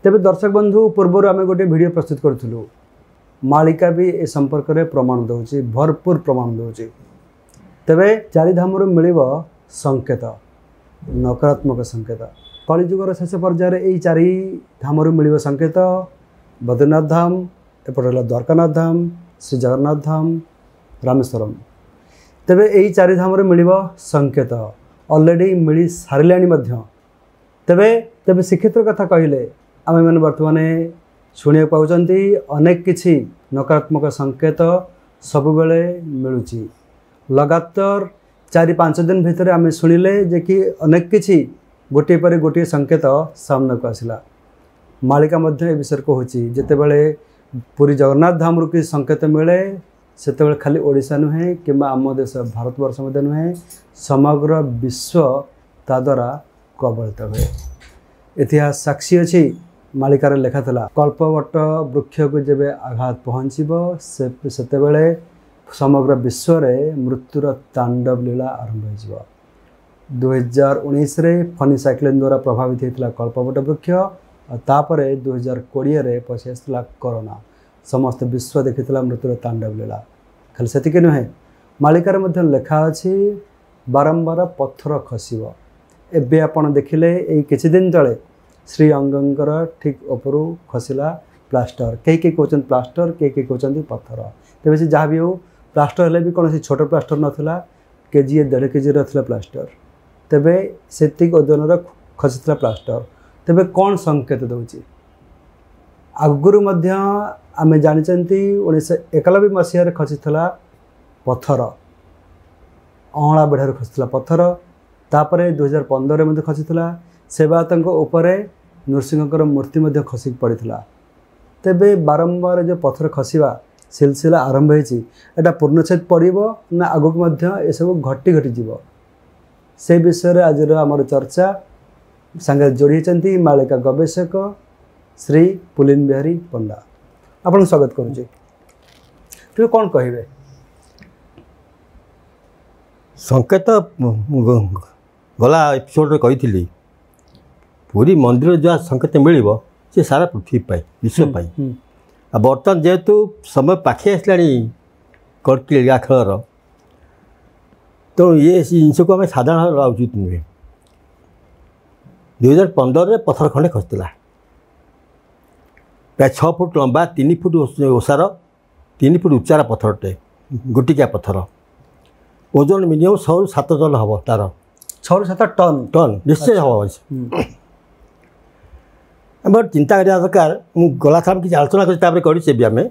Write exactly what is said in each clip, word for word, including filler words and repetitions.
ତେବେ ଦର୍ଶକ ବନ୍ଧୁ, ପୂର୍ବରୁ ଆମେ ଗୋଟିଏ ଭିଡ଼ିଓ ପ୍ରସ୍ତୁତ କରିଥିଲୁ। ମାଳିକା ବି ଏ ସମ୍ପର୍କରେ ପ୍ରମାଣ ଦେଉଛି, ଭରପୁର ପ୍ରମାଣ ଦେଉଛି। ତେବେ ଚାରିଧାମରୁ ମିଳିବ ସଂକେତ, ନକାରାତ୍ମକ ସଂକେତ। କଳିଯୁଗର ଶେଷ ପର୍ଯ୍ୟାୟରେ ଏଇ ଚାରି ଧାମରୁ ମିଳିବ ସଂକେତ। ବଦ୍ରୀନାଥ ଧାମ, ଏପଟେ ହେଲା ଦ୍ୱାରକାନାଥ ଧାମ, ଶ୍ରୀ ଜଗନ୍ନାଥ ଧାମ, ରାମେଶ୍ୱରମ। ତେବେ ଏଇ ଚାରି ଧାମରୁ ମିଳିବ ସଂକେତ, ଅଲରେଡ଼ି ମିଳି ସାରିଲାଣି ମଧ୍ୟ। ତେବେ ତେବେ ଶ୍ରୀକ୍ଷେତ୍ର କଥା କହିଲେ ଆମେମାନେ ବର୍ତ୍ତମାନ ଶୁଣିବାକୁ ପାଉଛନ୍ତି ଅନେକ କିଛି ନକାରାତ୍ମକ ସଂକେତ ସବୁବେଳେ ମିଳୁଛି। ଲଗାତାର ଚାରି ପାଞ୍ଚ ଦିନ ଭିତରେ ଆମେ ଶୁଣିଲେ ଯେ କି ଅନେକ କିଛି ଗୋଟିଏ ପରେ ଗୋଟିଏ ସଂକେତ ସାମ୍ନାକୁ ଆସିଲା। ମାଳିକା ମଧ୍ୟ ଏ ବିଷୟରେ କହୁଛି। ଯେତେବେଳେ ପୁରୀ ଜଗନ୍ନାଥ ଧାମରୁ କିଛି ସଂକେତ ମିଳେ, ସେତେବେଳେ ଖାଲି ଓଡ଼ିଶା ନୁହେଁ କିମ୍ବା ଆମ ଦେଶ ଭାରତବର୍ଷ ମଧ୍ୟ ନୁହେଁ, ସମଗ୍ର ବିଶ୍ୱ ତା ଦ୍ୱାରା କବଳିତ ହୁଏ। ଇତିହାସ ସାକ୍ଷୀ ଅଛି, ମାଳିକାରେ ଲେଖା ଥିଲା, କଳ୍ପବଟ ବୃକ୍ଷକୁ ଯେବେ ଆଘାତ ପହଞ୍ଚିବ ସେ ସେତେବେଳେ ସମଗ୍ର ବିଶ୍ୱରେ ମୃତ୍ୟୁର ତାଣ୍ଡବ ଲୀଳା ଆରମ୍ଭ ହୋଇଯିବ। ଦୁଇହଜାର ଉଣେଇଶରେ ଫନି ସାଇକ୍ଲୋନ୍ ଦ୍ୱାରା ପ୍ରଭାବିତ ହୋଇଥିଲା କଳ୍ପବଟ ବୃକ୍ଷ, ଆଉ ତାପରେ ଦୁଇହଜାର କୋଡ଼ିଏରେ ପଶି ଆସିଥିଲା କରୋନା। ସମସ୍ତ ବିଶ୍ୱ ଦେଖିଥିଲା ମୃତ୍ୟୁର ତାଣ୍ଡବ ଲୀଳା। ଖାଲି ସେତିକି ନୁହେଁ, ମାଳିକାରେ ମଧ୍ୟ ଲେଖା ଅଛି ବାରମ୍ବାର ପଥର ଖସିବ। ଏବେ ଆପଣ ଦେଖିଲେ ଏଇ କିଛି ଦିନ ତଳେ ଶ୍ରୀ ଅଙ୍ଗଙ୍କର ଠିକ୍ ଉପରୁ ଖସିଲା ପ୍ଲାଷ୍ଟର। କେହି କେହି କହୁଛନ୍ତି ପ୍ଲାଷ୍ଟର, କେହି କେହି କହୁଛନ୍ତି ପଥର। ତେବେ ସେ ଯାହା ବି ହେଉ, ପ୍ଲାଷ୍ଟର ହେଲେ ବି କୌଣସି ଛୋଟ ପ୍ଲାଷ୍ଟର ନଥିଲା, କେଜିଏ ଦେଢ଼ କେଜିର ଥିଲା ପ୍ଲାଷ୍ଟର। ତେବେ ସେତିକି ଓଜନର ଖସିଥିଲା ପ୍ଲାଷ୍ଟର। ତେବେ କ'ଣ ସଂକେତ ଦେଉଛି? ଆଗରୁ ମଧ୍ୟ ଆମେ ଜାଣିଛନ୍ତି ଉଣେଇଶହ ଏକାନବେ ମସିହାରେ ଖସିଥିଲା ପଥର, ଅଁଳା ବେଢ଼ାରୁ ଖସିଥିଲା ପଥର। ତାପରେ ଦୁଇହଜାର ପନ୍ଦରରେ ମଧ୍ୟ ଖସିଥିଲା। ସେବାୟତଙ୍କ ଉପରେ ନୃସିଂହଙ୍କର ମୂର୍ତ୍ତି ମଧ୍ୟ ଖସିକି ପଡ଼ିଥିଲା। ତେବେ ବାରମ୍ବାର ଯେଉଁ ପଥର ଖସିବା ସିଲସିଲା ଆରମ୍ଭ ହେଇଛି, ଏଇଟା ପୂର୍ଣ୍ଣଚ୍ଛେଦ ପଡ଼ିବ ନା ଆଗକୁ ମଧ୍ୟ ଏସବୁ ଘଟି ଘଟିଯିବ, ସେ ବିଷୟରେ ଆଜିର ଆମର ଚର୍ଚ୍ଚା। ସାଙ୍ଗରେ ଯୋଡ଼ି ହେଇଛନ୍ତି ମାଳିକା ଗବେଷକ ଶ୍ରୀ ପୁଲିନ ବିହାରୀ ପଣ୍ଡା। ଆପଣଙ୍କୁ ସ୍ୱାଗତ କରୁଛି। ତେବେ କ'ଣ କହିବେ? ସଂକେତ ଗଲା ଏପିସୋଡ଼ରେ କହିଥିଲି, ପୁରୀ ମନ୍ଦିର ଯାହା ସଂକେତ ମିଳିବ ସେ ସାରା ପୃଥିବୀ ପାଇଁ, ବିଶ୍ୱ ପାଇଁ। ଆଉ ବର୍ତ୍ତମାନ ଯେହେତୁ ସମୟ ପାଖେଇ ଆସିଲାଣି କଳ୍କୀ ଲୀଳା ଖେଳର, ତେଣୁ ଇଏ ଜିନିଷକୁ ଆମେ ସାଧାରଣ ଭାବେ ଉଚିତ ନୁହେଁ। ଦୁଇହଜାର ପନ୍ଦରରେ ପଥର ଖଣ୍ଡେ ଖସିଥିଲା, ପ୍ରାୟ ଛଅ ଫୁଟ ଲମ୍ବା, ତିନି ଫୁଟ ଓସାର, ତିନି ଫୁଟ ଉଚ୍ଚାର ପଥରଟେ, ଗୋଟିକିଆ ପଥର। ଓଜନ ମିନିମମ୍ ଛଅରୁ ସାତ ଟନ୍ ହେବ ତାର। ଛଅରୁ ସାତ ଟନ୍? ଟନ୍ ନିଶ୍ଚୟ ହେବ। ଆମର ଚିନ୍ତା କରିବା ଦରକାର। ମୁଁ ଗଲା ଥର କିଛି ଆଲୋଚନା କରି ତାପରେ କରିଛେ ବି ଆମେ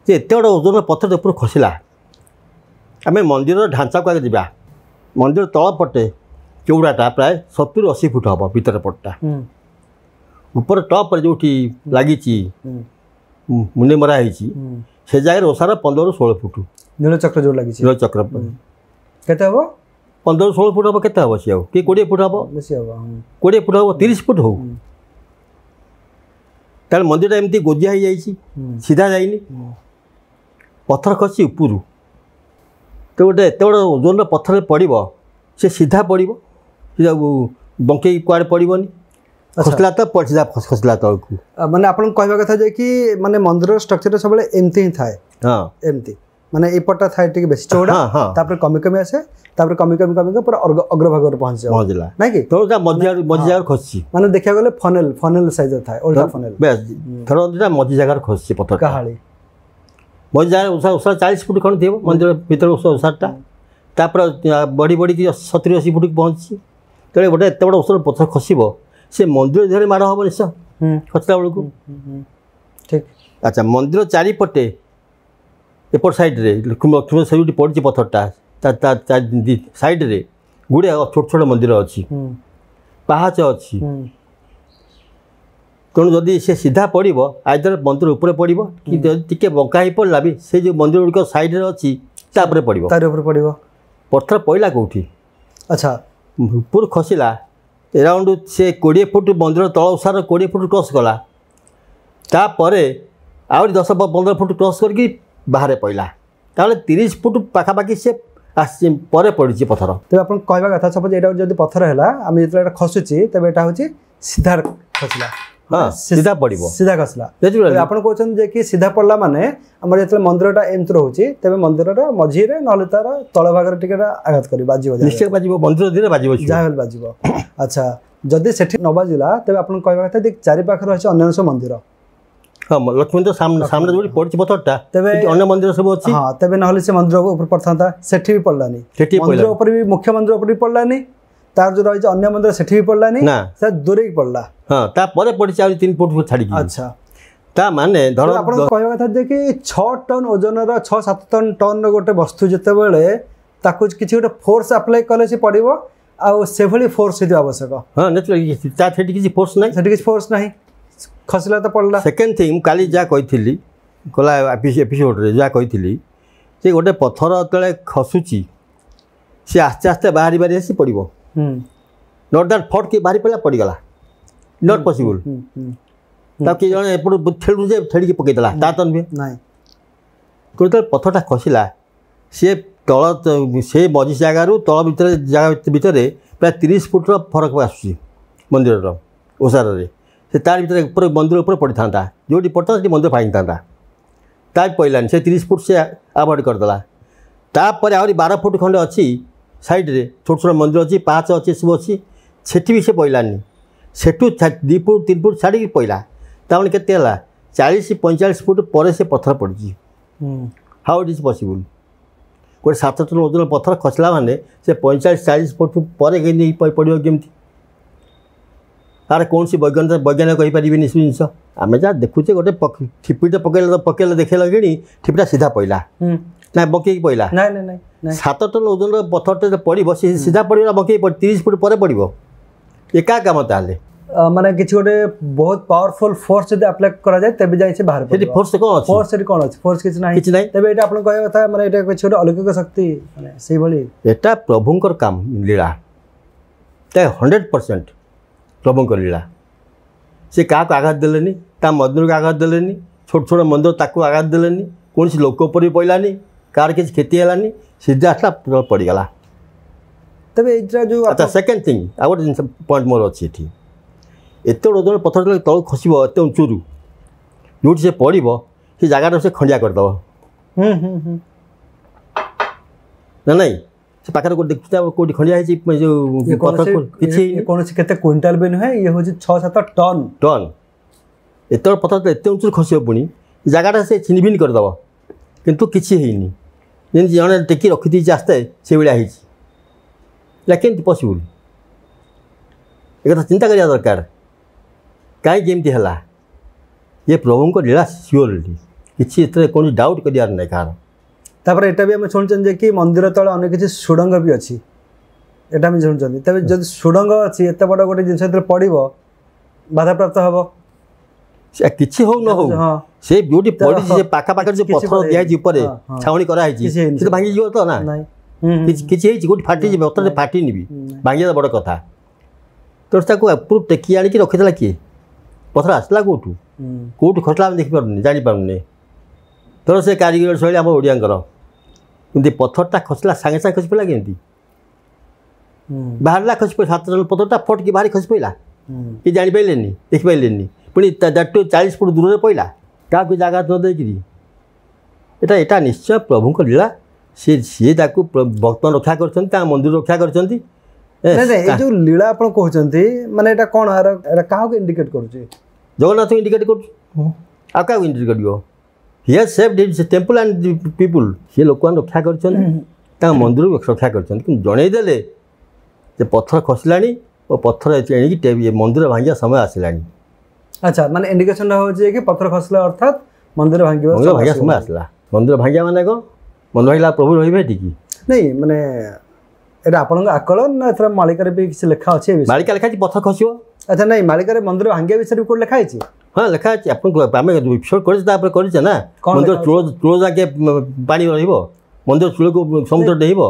ଯେ ଏତେ ବଡ଼ ଓଜନ ପଥର ଉପରୁ ଖସିଲା। ଆମେ ମନ୍ଦିରର ଢାଞ୍ଚାକୁ ଆଗେ ଯିବା। ମନ୍ଦିର ତଳ ପଟେ ଚଉଡ଼ାଟା ପ୍ରାୟ ସତୁରି ଅଶୀ ଫୁଟ ହେବ ଭିତର ପଟଟା। ଉପର ଟପ୍ରେ ଯେଉଁଠି ଲାଗିଛି ମୁନି ମରା ହେଇଛି, ସେ ଜାଗାରେ ଓସାର ପନ୍ଦରରୁ ଷୋହଳ ଫୁଟ। ନୀଳଚକ୍ର ଯେଉଁ ଲାଗିଛି? ନୀଳଚକ୍ର କେତେ ହେବ? ପନ୍ଦରରୁ ଷୋହଳ ଫୁଟ ହେବ। କେତେ ହେବ ସିଏ? ଆଉ କି କୋଡ଼ିଏ ଫୁଟ ହେବ? ବେଶୀ ହେବ। କୋଡ଼ିଏ ଫୁଟ ହେବ, ତିରିଶ ଫୁଟ ହଉ। ତାହେଲେ ମନ୍ଦିରଟା ଏମିତି ଗୋଜିଆ ହେଇଯାଇଛି, ସିଧା ଯାଇନି, ପଥର ଖସି ଉପରୁ। ତ ଗୋଟେ ଏତେ ବଡ଼ ଓଜନର ପଥରରେ ପଡ଼ିବ, ସେ ସିଧା ପଡ଼ିବ, ସେ ବଙ୍କେଇ କୁଆଡ଼େ ପଡ଼ିବନି। ଖସିଲା ତ ସିଧା ଖସିଲା ତଳକୁ। ମାନେ ଆପଣଙ୍କୁ କହିବା କଥା ଯେ କି ମାନେ ମନ୍ଦିରର ଷ୍ଟ୍ରକ୍ଚରଟା ସବୁବେଳେ ଏମିତି ହିଁ ଥାଏ? ହଁ, ଏମିତି, ମାନେ ଏପଟଟା ଥାଏ ଟିକେ ବେଶୀ ଚଉଡ଼ା, ତାପରେ କମି କମି ଆସେ, ତାପରେ କମି କମି କମି ପୁରା ଅଗ୍ରଭାଗରେ ପହଞ୍ଚିଯାଏ। ପହଞ୍ଚିଲା। ନାଇଁ କି? ତଳଟା ମଝି ମଝି ଜାଗାରେ ଖସିଛି। ମାନେ ଦେଖିବାକୁ ଗଲେ ଫନେଲ ଫନେଲ ସାଇଜର ଥାଏ, ଓଲଟା ଫନେଲ। ବେଶ, ଥର ମଝି ଜାଗାରେ ଖସିଛି ପଥର। କାହାଳି ମଝି ଜାଗାରେ ଓଷା ଓଷା ଚାଳିଶ ଫୁଟ ଖଣ୍ଡେ ଥିବ ମନ୍ଦିର ଭିତରେ ଓଷାରଟା, ତାପରେ ବଢ଼ି ବଢ଼ିକି ସତୁରି ଅଶୀ ଫୁଟକୁ ପହଞ୍ଚିଛି। ତେଣୁ ଗୋଟେ ଏତେ ବଡ଼ ଓଷାର ପଥର ଖସିବ, ସେ ମନ୍ଦିର ଦେହରେ ମାଡ଼ ହେବ ନିଶ୍ଚୟ ଖସିଲା ବେଳକୁ। ଠିକ୍। ଆଚ୍ଛା, ମନ୍ଦିର ଚାରିପଟେ ଏପଟ ସାଇଡ଼୍ରେ ଲକ୍ଷ୍ମୀ ସେଇଠି ପଡ଼ିଛି ପଥରଟା, ତା ସାଇଡ଼୍ରେ ଗୁଡ଼ିଏ ଛୋଟ ଛୋଟ ମନ୍ଦିର ଅଛି, ପାହାଚ ଅଛି। ତେଣୁ ଯଦି ସେ ସିଧା ପଡ଼ିବ, ଆଇଦର ମନ୍ଦିର ଉପରେ ପଡ଼ିବ କି ଯଦି ଟିକେ ବଙ୍କା ହେଇ ପଡ଼ିଲା ବି ସେ ଯେଉଁ ମନ୍ଦିର ଗୁଡ଼ିକ ସାଇଡ଼୍ରେ ଅଛି ତା ଉପରେ ପଡ଼ିବ। ତାରି ଉପରେ ପଡ଼ିବ। ପଥର ପଡ଼ିଲା କେଉଁଠି? ଆଚ୍ଛା, ଉପରୁ ଖସିଲା ଏରାଉଣ୍ଡ ସେ କୋଡ଼ିଏ ଫୁଟ ମନ୍ଦିର ତଳ ଓସାର କୋଡ଼ିଏ ଫୁଟ କ୍ରସ୍ କଲା, ତାପରେ ଆହୁରି ଦଶ ପନ୍ଦର ଫୁଟ କ୍ରସ୍ କରିକି ବାହାରେ ପଡ଼ିଲା। ତାହେଲେ ତିରିଶ ଫୁଟ ପାଖାପାଖି ସେ ଆସିଛି ପରେ ପଡ଼ିଛି ପଥର ତେବେ ଆପଣ କହିବା କଥା ସପୋଜ ଏଇଟା ଯଦି ପଥର ହେଲା ଆମେ ଯେତେବେଳେ ଏଇଟା ଖସୁଛି ତେବେ ଏଇଟା ହେଉଛି ସିଧା ଖସିଲା ହଁ ସିଧା ପଡ଼ିବ ସିଧା ଖସିଲା ଆପଣ କହୁଛନ୍ତି ଯେ କି ସିଧା ପଡ଼ିଲା ମାନେ ଆମର ଯେତେବେଳେ ମନ୍ଦିରଟା ଏମିତି ରହୁଛି ତେବେ ମନ୍ଦିରର ମଝିରେ ନହେଲେ ତାର ତଳ ଭାଗରେ ଟିକେ ଆଘାତ କରିବ ବାଜିବ ନିଶ୍ଚୟ ବାଜିବ ମନ୍ଦିର ଧୀରେ ବାଜିବ ଯାହା ହେଲେ ବାଜିବ ଆଚ୍ଛା ଯଦି ସେଠି ନ ବାଜିଲା ତେବେ ଆପଣ କହିବା କଥା ଯେ ଚାରି ପାଖରେ ଅଛି ଅନ୍ୟାନ୍ୟ ସବୁ ମନ୍ଦିର ହଁ ଲକ୍ଷ୍ମୀ ମନ୍ଦିର ସାମ୍ନା ଯୋଉଠି ପଡ଼ିଛି ପଥରଟା ତେବେ ଅନ୍ୟ ମନ୍ଦିର ସବୁ ଅଛି ହଁ ତେବେ ନହେଲେ ସେ ମନ୍ଦିର ଉପରେ ପଡ଼ିଥାନ୍ତା ସେଠି ବି ପଡ଼ିଲାନି ସେଠି ମନ୍ଦିର ଉପରେ ବି ମୁଖ୍ୟ ମନ୍ଦିର ଉପରେ ବି ପଡ଼ିଲାନି ତାର ଯୋଉ ରହିଛି ଅନ୍ୟ ମନ୍ଦିର ସେଠି ବି ପଡ଼ିଲାନି ସେ ଦୂରେଇକି ପଡ଼ିଲା ହଁ ତାପରେ ପଡ଼ିଛି ଆହୁରି ତିନି ଫୁଟ ଛାଡ଼ିକି ଆଚ୍ଛା ତା ମାନେ ଧର ଆପଣ କହିବା କଥା ଯେ କି ଛଅ ଟନ୍ ଓଜନର ଛଅ ସାତ ଟନ୍ ଟନ୍ର ଗୋଟେ ବସ୍ତୁ ଯେତେବେଳେ ତାକୁ କିଛି ଗୋଟେ ଫୋର୍ସ ଆପ୍ଲାଏ କଲେ ସେ ପଡ଼ିବ ଆଉ ସେଭଳି ଫୋର୍ସ ହେଇଥିବା ଆବଶ୍ୟକ ହଁ ତା ସେଠି କିଛି ଫୋର୍ସ ନାହିଁ ସେଠି କିଛି ଫୋର୍ସ ନାହିଁ ଖସିଲା ତ ପଡ଼ିଲା ସେକେଣ୍ଡ ଥିଙ୍ଗ ମୁଁ କାଲି ଯାହା କହିଥିଲି ଗଲା ଏପିସୋଡ଼ରେ ଯାହା କହିଥିଲି ଯେ ଗୋଟେ ପଥର ଯେତେବେଳେ ଖସୁଛି ସେ ଆସ୍ତେ ଆସ୍ତେ ବାହାରି ବାହାରି ଆସି ପଡ଼ିବ not that ଫଟ୍ କି ବାହାରି ପଡ଼ିଲା ପଡ଼ିଗଲା not possible ତାକୁ କିଏ ଜଣେ ଏପଟୁ ଠେଳୁ ଯେ ଠେଳିକି ପକେଇଦେଲା ତା ତ ନୁହେଁ ନାଇଁ ଯେତେବେଳେ ପଥରଟା ଖସିଲା ସିଏ ତଳ ସେ ମଝି ଜାଗାରୁ ତଳ ଭିତରେ ଜାଗା ଭିତରେ ପ୍ରାୟ ତିରିଶ ଫୁଟର ଫରକ ଆସୁଛି ମନ୍ଦିରର ଓସାରରେ ସେ ତାର ଭିତରେ ଉପରେ ମନ୍ଦିର ଉପରେ ପଡ଼ିଥାନ୍ତା ଯେଉଁଠି ପଡ଼ିଥାନ୍ତା ସେଠି ମନ୍ଦିର ଭାଙ୍ଗିଥାନ୍ତା ତା ବି ପଡ଼ିଲାନି ସେ ତିରିଶ ଫୁଟ ସେ ଆଭଏଡ଼ କରିଦେଲା ତାପରେ ଆହୁରି ବାର ଫୁଟ ଖଣ୍ଡେ ଅଛି ସାଇଡ଼ରେ ଛୋଟ ଛୋଟ ମନ୍ଦିର ଅଛି ପାହାଚ ଅଛି ଏସବୁ ଅଛି ସେଠି ବି ସେ ପଡ଼ିଲାନି ସେଠୁ ଦୁଇ ଫୁଟ ତିନି ଫୁଟ ଛାଡ଼ିକି ପଡ଼ିଲା ତାମାନେ କେତେ ହେଲା ଚାଳିଶ ପଇଁଚାଳିଶ ଫୁଟ ପରେ ସେ ପଥର ପଡ଼ିଛି ହାଉ it is possible ଗୋଟେ ସାତ ଟନ୍ ଓଜନ ପଥର ଖସିଲା ମାନେ ସେ ପଇଁଚାଳିଶ ଚାଳିଶ ଫୁଟ ପରେ କେମିତି ପଡ଼ିବ କେମିତି ତାର କୌଣସି ବୈଜ୍ଞାନିକ ବୈଜ୍ଞାନିକ କହିପାରିବେନି ସେ ଜିନିଷ ଆମେ ଯାହା ଦେଖୁଛେ ଗୋଟେ ଠିପିଟେ ପକେଇଲେ ପକେଇଲେ ଦେଖେଇଲା କିଣି ଠିପିଟା ସିଧା ପଡ଼ିଲା ନା ବଙ୍କେଇକି ପଡ଼ିଲା ସାତ ଟନ୍ ଓଜନର ପଥରଟେ ପଡ଼ିବ ସେ ସିଧା ପଡ଼ିବ ନା ବଙ୍କେଇକି ତିରିଶ ଫୁଟ ପରେ ପଡ଼ିବ ଏକା କାମ ତାହେଲେ ମାନେ କିଛି ଗୋଟେ ବହୁତ ପାୱାରଫୁଲ ଫୋର୍ସ ଯଦି ଆପ୍ଲାଏ କରାଯାଏ ତେବେ ଯାଇ ସେ ବାହାରେ ସେଠି ଫୋର୍ସ କ'ଣ ଅଛି ଫୋର୍ସ ସେଠି କ'ଣ ଅଛି ଫୋର୍ସ କିଛି ନାହିଁ କିଛି ନାହିଁ ତେବେ ଏଇଟା ଆପଣ କହିବା କଥା ମାନେ ଏଇଟା କିଛି ଗୋଟେ ଅଲୌକିକ ଶକ୍ତି ମାନେ ସେଇଭଳି ଏଟା ପ୍ରଭୁଙ୍କର କାମ ଲୀଳା ତା ହଣ୍ଡ୍ରେଡ଼ ପରସେଣ୍ଟ ପ୍ରଭୁଙ୍କ ଲୀଳା ସେ କାହାକୁ ଆଘାତ ଦେଲେନି ତା ମନ୍ଦିରକୁ ଆଘାତ ଦେଲେନି ଛୋଟ ଛୋଟ ମନ୍ଦିର ତାକୁ ଆଘାତ ଦେଲେନି କୌଣସି ଲୋକ ଉପରେ ବି ପଡ଼ିଲାନି କାହାର କିଛି କ୍ଷତି ହେଲାନି ସିଧା ଆସିଲା ପଡ଼ିଗଲା ତେବେ ଏଇଟା ଯେଉଁ ଆଚ୍ଛା ସେକେଣ୍ଡ ଥିଙ୍ଗ ଆଉ ଗୋଟେ ଜିନିଷ ପଏଣ୍ଟ ମୋର ଅଛି ଏଠି ଏତେ ଓଜନ ପଥର ଯେତେବେଳେ ତଳକୁ ଖସିବ ଏତେ ଉଞ୍ଚୁରୁ ଯେଉଁଠି ସେ ପଡ଼ିବ ସେ ଜାଗାଟା ସେ ଖଣ୍ଡିଆ କରିଦେବ ନା ନାଇଁ ସେ ପାଖରେ କୋଉଠି ଦେଖୁଛି କୋଉଠି ଖଣ୍ଡିଆ ହେଇଛି ଯେଉଁ ପଥର କିଛି କୌଣସି କେତେ କୁଇଣ୍ଟାଲ ବି ନୁହେଁ ଇଏ ହେଉଛି ଛଅ ସାତ ଟନ୍ ଟନ୍ ଏତେ ପଥର ଏତେ ଉଞ୍ଚୁରୁ ଖସିବ ପୁଣି ଜାଗାଟା ସେ ଛିନିଭିନି କରିଦେବ କିନ୍ତୁ କିଛି ହେଇନି ଯେମିତି ଜଣେ ଟେକି ରଖିଦେଇଛି ଆସ୍ତେ ସେଇଭଳିଆ ହେଇଛି ଏଇଟା କେମିତି ପସିବୁଲ୍ ଏକଥା ଚିନ୍ତା କରିବା ଦରକାର କାହିଁକି ଏମିତି ହେଲା ଇଏ ପ୍ରଭୁଙ୍କ ଲୀଳା ସିଓରଲି କିଛି ଏଥିରେ କୌଣସି ଡାଉଟ୍ କରିବାର ନାହିଁ କାହାର ତାପରେ ଏଇଟା ବି ଆମେ ଶୁଣୁଛନ୍ତି ଯେ କି ମନ୍ଦିର ତଳେ ଅନେକ କିଛି ସୁଡ଼ଙ୍ଗ ବି ଅଛି ଏଇଟା ଆମେ ଶୁଣୁଛନ୍ତି ତେବେ ଯଦି ସୁଡ଼ଙ୍ଗ ଅଛି ଏତେ ବଡ଼ ଗୋଟେ ଜିନିଷ ଯେତେବେଳେ ପଡ଼ିବ ବାଧାପ୍ରାପ୍ତ ହେବ ସେ କିଛି ହଉ ନ ହଉ ସେ ଯୋଉଠି ପଡ଼ିଛି ସେ ପାଖାପାଖରେ ଯୋଉ ପଥର ଦିଆହେଇଛି ଉପରେ ଛାଉଣି କରାହେଇଛି ସେ ତ ଭାଙ୍ଗିଯିବ ତ ନା କିଛି କିଛି ହେଇଛି କୋଉଠି ଫାଟିଯିବ ପଥର ଫାଟିନି ବି ଭାଙ୍ଗିବା ବଡ଼ କଥା ତ ତାକୁ ଉପରୁ ଟେକି ଆଣିକି ରଖିଦେଲା କିଏ ପଥର ଆସିଲା କେଉଁଠୁ କେଉଁଠୁ ଖସିଲା ଆମେ ଦେଖିପାରୁନି ଜାଣିପାରୁନି ତେଣୁ ସେ କାରିଗର ଶୈଳୀ ଆମ ଓଡ଼ିଆଙ୍କର କିନ୍ତୁ ପଥରଟା ଖସିଲା ସାଙ୍ଗେ ସାଙ୍ଗେ ଖସି ପଡ଼ିଲା କେମିତି ବାହାରିଲା ଖସି ପଡ଼ିଲା ସାତ ଜଣ ପଥରଟା ଫଟକି ବାହାରି ଖସି ପଡ଼ିଲା କି ଜାଣିପାରିଲେନି ଦେଖିପାରିଲେନି ପୁଣି ଦ୍ୟାଟୁ ଚାଳିଶ ଫୁଟ ଦୂରରେ ପଡ଼ିଲା କାହାକୁ ଜାଗା ନ ଦେଇକିରି ଏଇଟା ଏଇଟା ନିଶ୍ଚୟ ପ୍ରଭୁଙ୍କ ଲୀଳା ସିଏ ସିଏ ତାକୁ ଭକ୍ତ ରକ୍ଷା କରିଛନ୍ତି ତାଙ୍କ ମନ୍ଦିର ରକ୍ଷା କରିଛନ୍ତି ନାଇଁ ନାଇଁ ଏଇ ଯେଉଁ ଲୀଳା ଆପଣ କହୁଛନ୍ତି ମାନେ ଏଇଟା କ'ଣ ଏଇଟା କାହାକୁ ଇଣ୍ଡିକେଟ୍ କରୁଛି ଜଗନ୍ନାଥଙ୍କୁ ଇଣ୍ଡିକେଟ୍ କରୁଛି ଆଉ କାହାକୁ ଇଣ୍ଡିକେଟ୍ କରିବ he has saved his temple and people ସିଏ ଲୋକମାନେ ରକ୍ଷା କରିଛନ୍ତି ତାଙ୍କ ମନ୍ଦିରକୁ ରକ୍ଷା କରିଛନ୍ତି କିନ୍ତୁ ଜଣେଇଦେଲେ ଯେ ପଥର ଖସିଲାଣି ଓ ପଥର ଏଣିକି ମନ୍ଦିର ଭାଙ୍ଗିବା ସମୟ ଆସିଲାଣି ଆଚ୍ଛା ମାନେ ଇଣ୍ଡିକେସନଟା ହେଉଛି କି ପଥର ଖସିଲା ଅର୍ଥାତ୍ ମନ୍ଦିର ଭାଙ୍ଗିବା ମନ୍ଦିର ଭାଙ୍ଗିବା ସମୟ ଆସିଲା ମନ୍ଦିର ଭାଙ୍ଗିବା ମାନେ କ'ଣ ମନ୍ଦିର ଭାଙ୍ଗିଲା ପ୍ରଭୁ ରହିବେ ଏଠିକି ନାଇଁ ମାନେ ଏଇଟା ଆପଣଙ୍କ ଆକଳନ ନା ଏଥର ମାଳିକାରେ ବି କିଛି ଲେଖା ଅଛି ମାଳିକା ଲେଖା ହେଇଛି ପଥର ଖସିବ ଆଚ୍ଛା ନାଇଁ ମାଳିକାରେ ମନ୍ଦିର ଭାଙ୍ଗିବା ବିଷୟରେ ବି କୋଉଠି ଲେଖା ହେଇଛି ହଁ ଲେଖା ଅଛି ଆପଣଙ୍କୁ ଆମେ ଏପିସୋଡ଼ କରିଛେ ତାପରେ କରିଛେ ନା ମନ୍ଦିର ଚୂଳ ଚୂଳ ଯାକେ ପାଣି ରହିବ ମନ୍ଦିର ଚୂଳକୁ ସମୁଦ୍ର ଡେଇଁବ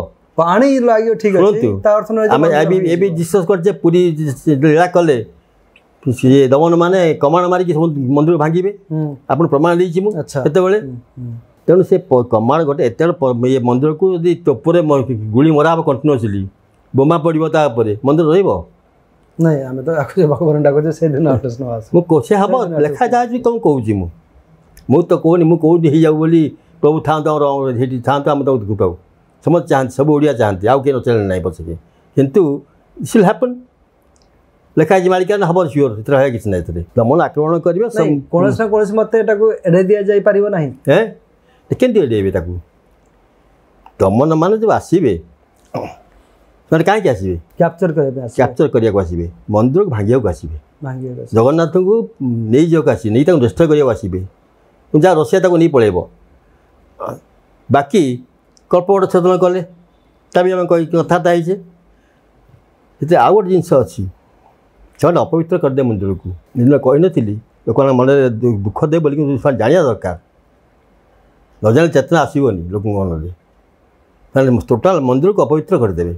ପାଣି ଲାଗିବ ଠିକ ଅଛି ତା ଅର୍ଥ ନୁହେଁ ଆମେ ଏବେ ଡିସ୍କସ୍ କରିଛେ ପୁରୀ ଲୀଳା କଲେ ସିଏ ଦମନ ମାନେ କମାଣ ମାରିକି ସବୁ ମନ୍ଦିର ଭାଙ୍ଗିବେ ଆପଣ ପ୍ରମାଣ ଦେଇଛି ମୁଁ ସେତେବେଳେ ତେଣୁ ସେ କମାଣ ଗୋଟେ ଏତେ ଇଏ ମନ୍ଦିରକୁ ଯଦି ଟୋପରେ ଗୁଳି ମରା ହେବ କଣ୍ଟିନ୍ୟୁଅସଲି, ବୋମା ପଡ଼ିବ ତା ଉପରେ, ମନ୍ଦିର ରହିବ? ନାଇଁ, ଆମେ ତ ଭଗବାନ ଡାକୁଛେ ସେଦିନ। ମୁଁ ସେ ହେବ ଲେଖା ଯାଉଛି, କ'ଣ କହୁଛି ମୁଁ ମୁଁ ତ କହୁନି, ମୁଁ କହୁନି ହେଇଯାଉ ବୋଲି। ପ୍ରଭୁ ଥାଆନ୍ତୁ ଆମର ସେଇଠି ଥାଆନ୍ତୁ, ଆମେ ତାକୁ ଦେଖୁଥାଉ। ସମସ୍ତେ ଚାହାନ୍ତି, ସବୁ ଓଡ଼ିଆ ଚାହାନ୍ତି, ଆଉ କିଏ ନଚାହିଁଲେ ନାହିଁ ପଛକେ, କିନ୍ତୁ ଇଟ୍ ହ୍ୟାପନ୍। ଲେଖା ହେଇଛି ମାଳିକା ହେବ ସିଓର, ସେଥିରେ ରହିବା କିଛି ନାହିଁ। ଏଥିରେ ଦମନ ଆକ୍ରମଣ କରିବେ କୌଣସି ନା କୌଣସି ମତେ, ଏଟାକୁ ଏଡ଼େଇ ଦିଆଯାଇପାରିବ ନାହିଁ। ହେଁ, କେମିତି ଏଡ଼େଇବେ ତାକୁ? ଦମନ ମାନେ ଯେଉଁ ଆସିବେ, ସେମାନେ କାହିଁକି ଆସିବେ? କ୍ୟାପଚର କରିବା ପାଇଁ, କ୍ୟାପଚର କରିବାକୁ ଆସିବେ, ମନ୍ଦିରକୁ ଭାଙ୍ଗିବାକୁ ଆସିବେ, ଜଗନ୍ନାଥଙ୍କୁ ନେଇଯିବାକୁ ଆସିବେ, ନେଇ ତାକୁ ଡେଷ୍ଟ୍ରୟ କରିବାକୁ ଆସିବେ। ଯାହା ରଷିଆ ତାକୁ ନେଇ ପଳେଇବ। ବାକି କଳ୍ପବଟ ଛେଦନ କଲେ ତା ବି ଆମେ କହି କଥାବାର୍ତ୍ତା ହେଇଛେ। ସେଥିରେ ଆଉ ଗୋଟେ ଜିନିଷ ଅଛି, ସେମାନେ ଅପବିତ୍ର କରିଦେ ମନ୍ଦିରକୁ। ଦିନ କହିନଥିଲି ଲୋକମାନଙ୍କ ମନରେ ଦୁଃଖ ଦେବେ ବୋଲି, କିନ୍ତୁ ସେମାନେ ଜାଣିବା ଦରକାର। ନ ଜାଣିଲେ ଚେତନା ଆସିବନି ଲୋକଙ୍କ ମନରେ। ତାହେଲେ ଟୋଟାଲ ମନ୍ଦିରକୁ ଅପବିତ୍ର କରିଦେବେ,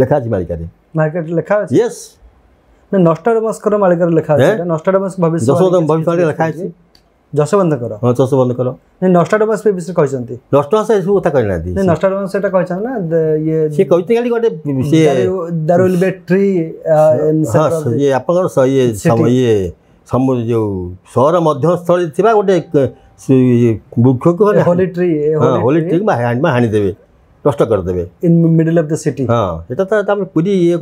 ଲେଖା ଅଛି ମାଳିକାରେ। ମାର୍କେଟ ଲେଖା ଅଛି? ୟେସ୍। ନଷ୍ଟାଡମସ୍କର ମାଳିକାରେ ଲେଖା ଅଛି। ନଷ୍ଟାଡମସ୍ ଭବିଷ୍ୟ ଭବିଷ୍ୟବାଣୀ ଲେଖା ଅଛି ଯଶବନ୍ତଙ୍କର। ହଁ, ଯଶବନ୍ତଙ୍କର। ନାଇଁ, ନଷ୍ଟାଡମସ୍ ବିଷୟରେ କହିଛନ୍ତି। ନଷ୍ଟାଡମସ୍ ଏସବୁ କଥା କହିନାହାନ୍ତି। ନାଇଁ, ନଷ୍ଟାଡମସ୍ ସେଟା କହିଛନ୍ତି ନା ଇଏ। ସିଏ କହିଛନ୍ତି ଖାଲି ଗୋଟେ ସିଏ there will be tree. ହଁ, ଇଏ ଆପଣଙ୍କର ଇଏ ଇଏ ସମୁଦ୍ର ଯେଉଁ ସହର ମଧ୍ୟସ୍ଥଳୀ ଥିବା ଗୋଟେ ବୃକ୍ଷକୁ, ହୋଲି ଟ୍ରି, ହୋଲି ଟ୍ରି ହାଣିଦେବେ, ନଷ୍ଟ କରିଦେବେ in middle of the city. ହଁ, ସେଟା ତ ଆମେ ପୁରୀ ଇଏ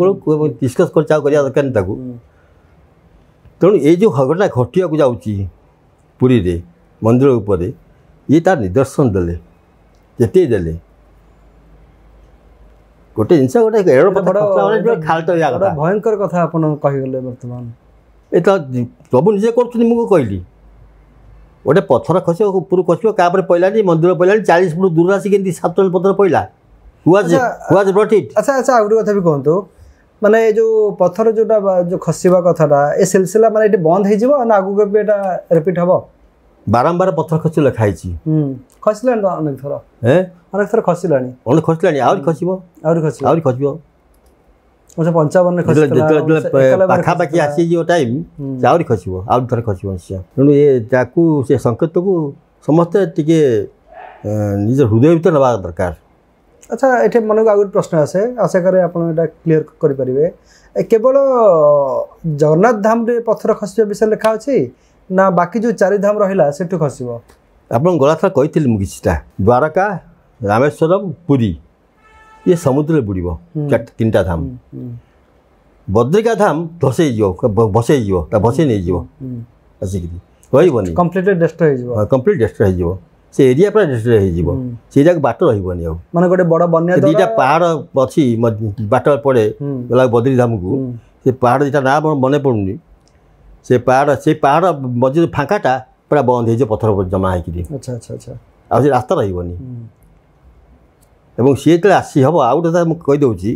ଡିସ୍କସ୍ କରିଛି, ଆଉ କରିବା ଦରକାର ନାହିଁ ତାକୁ। ତେଣୁ ଏଇ ଯେଉଁ ଘଟଣା ଘଟିବାକୁ ଯାଉଛି ପୁରୀରେ ମନ୍ଦିର ଉପରେ, ଇଏ ତାର ନିଦର୍ଶନ ଦେଲେ, ଯେତିକି ଦେଲେ ଗୋଟେ ଜିନିଷ, ଗୋଟେ ଭୟଙ୍କର କଥା ଆପଣ କହିଗଲେ ବର୍ତ୍ତମାନ। ଏ ତ ପ୍ରଭୁ ନିଜେ କରୁଛନ୍ତି। ମୁଁ କହିଲି ଗୋଟେ ପଥର ଖସିବ, ଉପରୁ ଖସିବ, କାହା ଉପରେ ପଡ଼ିଲାନି, ମନ୍ଦିର ପଡ଼ିଲାନି, ଚାଳିଶ ଫୁଟ ଦୂର ଆସିକି କେମିତି ସାତ ପଥର ପଡ଼ିଲା? ଆଚ୍ଛା ଆଚ୍ଛା, ଆଉ ଗୋଟେ କଥା ବି କୁହନ୍ତୁ, ମାନେ ଏ ଯେଉଁ ପଥର ଯେଉଁଟା ଯେଉଁ ଖସିବା କଥାଟା, ଏ ସିଲସିଲା ମାନେ ଏଠି ବନ୍ଦ ହେଇଯିବ ନା ଆଗକୁ ବି ଏଇଟା ରିପିଟ୍ ହେବ? ବାରମ୍ବାର ପଥର ଖସି ଲେଖା ହେଇଛି। ଖସିଲାଣି ଅନେକ ଥର, ଅନେକ ଥର ଖସିଲାଣି, ଅନେକ ଖସିଲାଣି, ଆହୁରି ଖସିବ, ଆହୁରି ଖସିବ, ଆହୁରି ଖସିବ। ପଞ୍ଚାବନରେ ପାଖାପାଖି ଆସିଯିବ ଟାଇମ୍, ସେ ଆହୁରି ଖସିବ, ଆହୁରି ଥରେ ଖସିବ ନିଶ୍ଚୟ। ତେଣୁ ଏ ତାକୁ ସେ ସଂକେତକୁ ସମସ୍ତେ ଟିକେ ନିଜ ହୃଦୟ ଭିତରେ ନେବା ଦରକାର। ଆଚ୍ଛା, ଏଠି ମନକୁ ଆଉ ଗୋଟେ ପ୍ରଶ୍ନ ଆସେ, ଆଶା କରେ ଆପଣ ଏଇଟା କ୍ଲିୟର କରିପାରିବେ। କେବଳ ଜଗନ୍ନାଥ ଧାମରେ ପଥର ଖସିବା ବିଷୟରେ ଲେଖା ଅଛି ନା ବାକି ଯେଉଁ ଚାରି ଧାମ ରହିଲା ସେଠୁ ଖସିବ? ଆପଣ ଗଲା ଥର କହିଥିଲି ମୁଁ କିଛିଟା, ଦ୍ୱାରକା, ରାମେଶ୍ୱରମ, ପୁରୀ ଇଏ ସମୁଦ୍ରରେ ବୁଡ଼ିବ, ତିନିଟା ଧାମ। ବଦ୍ରିକା ଧାମ ଧସେଇଯିବ, ଭସେଇଯିବ, ତା ଭସେଇ ନେଇଯିବ ଆସିକିରି, ରହିବନି, କମ୍ପ୍ଲିଟ୍ ଡେଷ୍ଟ୍ରୟ ହେଇଯିବ, କମ୍ପ୍ଲିଟ୍ ଡେଷ୍ଟ୍ରୟ ହେଇଯିବ। ସେ ଏରିଆ ପୁରା ଡେଷ୍ଟ୍ରୟ ହେଇଯିବ, ସେ ଏରିଆକୁ ବାଟ ରହିବନି ଆଉ। ମାନେ ଗୋଟେ ବଡ଼ ବନ୍ୟା, ଦୁଇଟା ପାହାଡ଼ ଅଛି ବାଟ ପଡ଼େ ଗଲା ବଦ୍ରି ଧାମକୁ, ସେ ପାହାଡ଼ ଦୁଇଟା ନାଁ ମନେ ପଡ଼ୁନି। ସେ ପାହାଡ଼, ସେ ପାହାଡ଼ ମଝିରେ ଫାଙ୍କାଟା ପୁରା ବନ୍ଦ ହେଇଯିବ ପଥର ଜମା ହେଇକିରି। ଆଚ୍ଛା ଆଚ୍ଛା ଆଚ୍ଛା, ଆଉ ସେ ରାସ୍ତା ରହିବନି। ଏବଂ ସିଏ ଯେତେବେଳେ ଆସି ହେବ, ଆଉ ଗୋଟେ କଥା ମୁଁ କହିଦେଉଛି,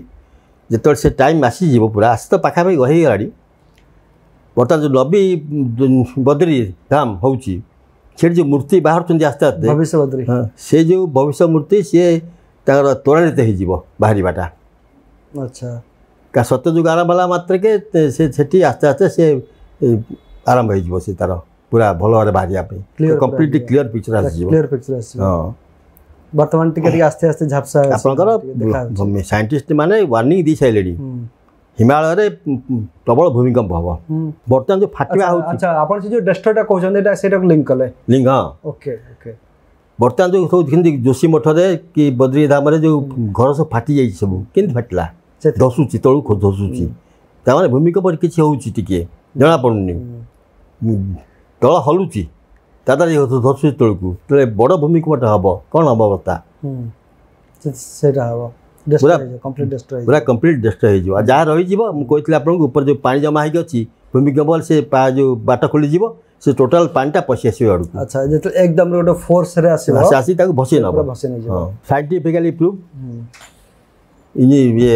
ଯେତେବେଳେ ସେ ଟାଇମ୍ ଆସିଯିବ ପୁରା ଆସି ତ ପାଖାପାଖି ହେଇଗଲାଣି। ବର୍ତ୍ତମାନ ଯେଉଁ ନବୀ ବଦ୍ରି ଧାମ ହେଉଛି, ସେଠି ଯେଉଁ ମୂର୍ତ୍ତି ବାହାରୁଛନ୍ତି ଆସ୍ତେ ଆସ୍ତେ, ଭବିଷ୍ୟ ବଦ୍ରି, ସେ ଯେଉଁ ଭବିଷ୍ୟ ମୂର୍ତ୍ତି ସିଏ ତାଙ୍କର ତ୍ୱରାନ୍ୱିତ ହେଇଯିବ ବାହାରିବାଟା। ଆଚ୍ଛା, କା ସତ୍ୟଯୁଗ ଆରମ୍ଭ ହେଲା ମାତ୍ରକେ ସେ ସେଠି ଆସ୍ତେ ଆସ୍ତେ ସେ ଆରମ୍ଭ ହେଇଯିବ, ସେ ତାର ପୁରା ଭଲ ଭାବରେ ବାହାରିବା ପାଇଁ କମ୍ପ୍ଲିଟଲି କ୍ଲିୟର ପିକ୍ଚର ଆସିଯିବ। କ୍ଲିୟର ପିକ୍ଚର ଆସିବ। ହଁ, ବର୍ତ୍ତମାନ ଟିକେ ଟିକେ ଆସ୍ତେ ଆସ୍ତେ ଝାପ୍ସା। ଆପଣଙ୍କର ସାଇଣ୍ଟିଷ୍ଟ ମାନେ ୱାର୍ଣ୍ଣିଂ ଦେଇ ସାରିଲେଣି, ହିମାଳୟରେ ପ୍ରବଳ ଭୂମିକମ୍ପ ହେବ। ବର୍ତ୍ତମାନ ଯେଉଁ ଫାଟିବା ହେଉଛି। ଆଚ୍ଛା, ଆପଣ ସେ ଯେଉଁ ଡେଷ୍ଟ୍ରୟଟା କହୁଛନ୍ତି, ଏଇଟା ସେଇଟାକୁ ଲିଙ୍କ କଲେ? ଲିଙ୍କ, ହଁ। Okay okay. ବର୍ତ୍ତମାନ ଯେଉଁ ସବୁ କେମିତି ଯୋଶୀ ମଠରେ କି ବଦ୍ରି ଧାମରେ ଯେଉଁ ଘର ସବୁ ଫାଟି ଯାଇଛି, ସବୁ କେମିତି ଫାଟିଲା? ଧସୁଛି, ତଳକୁ ଧସୁଛି, ତାମାନେ ଭୂମିକମ୍ପ କିଛି ହେଉଛି, ଟିକେ ଜଣାପଡ଼ୁନି, ତଳ ହଲୁଛି, ତା ଦ୍ୱାରା ଧସୁଛି ତଳକୁ। ଯେତେବେଳେ ବଡ଼ ଭୂମିକମ୍ପଟା ହେବ, କ'ଣ ହେବ ଅବସ୍ଥା? ସେଇଟା ହେବ ପୁରା ପୁରା କମ୍ପ୍ଲିଟ୍ ଡେଷ୍ଟ୍ରୟ ହେଇଯିବ। ଆଉ ଯାହା ରହିଯିବ, ମୁଁ କହିଥିଲି ଆପଣଙ୍କୁ, ଉପରେ ଯେଉଁ ପାଣି ଜମା ହେଇକି ଅଛି, ଭୂମିକମ୍ପ ହେଲେ ସେ ଯେଉଁ ବାଟ ଖୋଲିଯିବ, ସେ ଟୋଟାଲ ପାଣିଟା ପଶି ଆସିବ ଆଡ଼କୁ। ଆଚ୍ଛା, ଯେତେବେଳେ ଏକଦମ ଗୋଟେ ଫୋର୍ସରେ ଆସିବ, ସେ ଆସି ତାକୁ ଭସେଇ ନେବ, ଭସେଇ ନେଇଯିବ। ହଁ, ସାଇଣ୍ଟିଫିକାଲି ପ୍ରୁଭ୍, ଇଏ